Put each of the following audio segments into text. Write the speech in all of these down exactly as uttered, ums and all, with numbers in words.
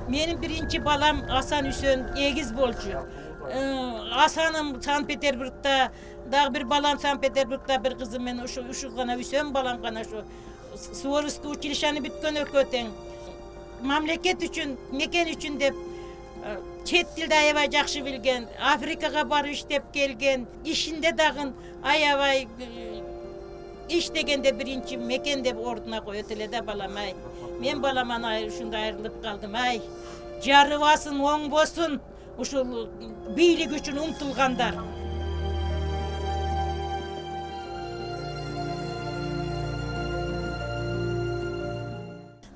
Менин биринчи балам Асан Үсөн эгиз болчу. Асаным Санкт-Петербургда, дагы бир балам Санкт-Петербургда, бир кызым мен ушу ушу гана Үсөн балам гана ушу Суворовский училищени бүткөн экөө тең. Мамлекет үчүн, мекен үчүн деп чет тилди аябай жакшы билген, Африкага барып иштеп келген, ишинде дагы аябай иштегенде биринчи мекен деп ордуна коет эле да балам ай. Мен баламан ушундай айрылып калдым ай. Жарыбасын, оңбосун ушул бийлик үчүн умтулгандар.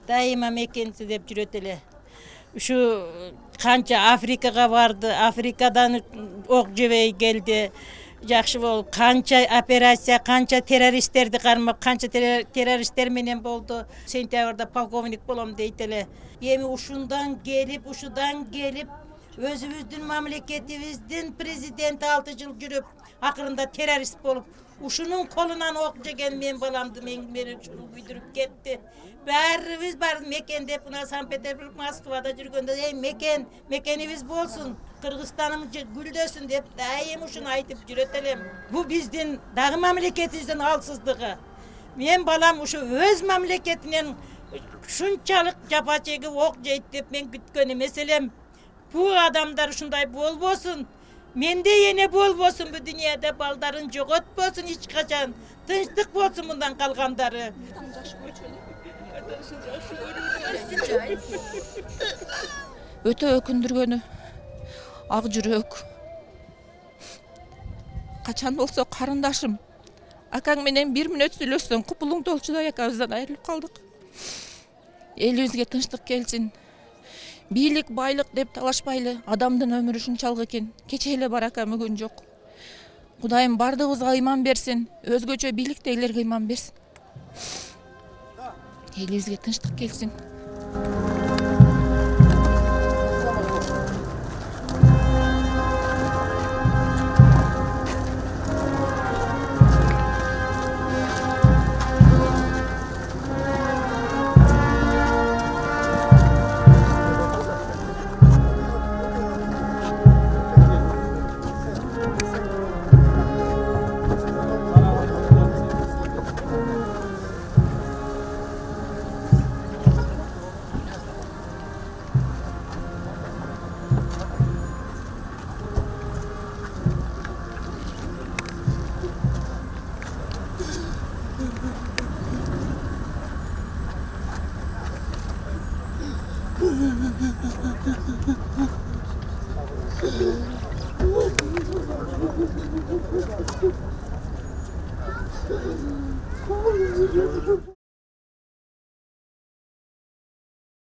Дайыма мекенси деп жүрөт эле. Ушу канча Африкага барды, Африкадан ок жебей келди. Жакшы болуп, канча операция, канча террористтерди кармап, канча террористтер менен болду. Сентябрда полковник болом дейт эле. Эми ушундан келип, ушудан келип, өзүбүздүн мамлекетибиздин президенти алты жыл жүрүп, акырында террорист болуп, ушунун колунан ок жеген мен баламды мени ушуну күйдүрүп кетти. Баарыбыз бар мекендеп, мына Санкт-Петербург, Москвада жүргөндө, эй мекен, мекенибиз болсун, Кыргызстаным гүлдөсүн деп дайым ушуну айтып жүрөт элем. Бу биздин дагы мамлекетибиздин алсыздыгы. Мен балам ушу өз мамлекетинен ушунчалык жапа чегип ок жейт деп мен күткөн эмес элем. Бу адамдар ушундай болбосун. Менде эне болбосун бу дүйнөдө, балдарын жоготпосун эч качан. Тынчтык болсун мындан калгандары. Өтө өкүндүргөнү ак жүрөк. Качан болсо карындашым, акаң менен бир мүнөт сүйлөшсөң, купулуң толчудай экөөбүздөн айрылып калдык. Элибизге тынчтык келсин. Бийлик, байлык деп талашпайлы, адамдын өмүрү ушунчалык экен. Кече эле барака мүгүн жок. Кудайым бардыгыбызга ыйман берсин, өзгөчө бийликтегилерге ыйман берсин. Элибизге тынчтык келсин.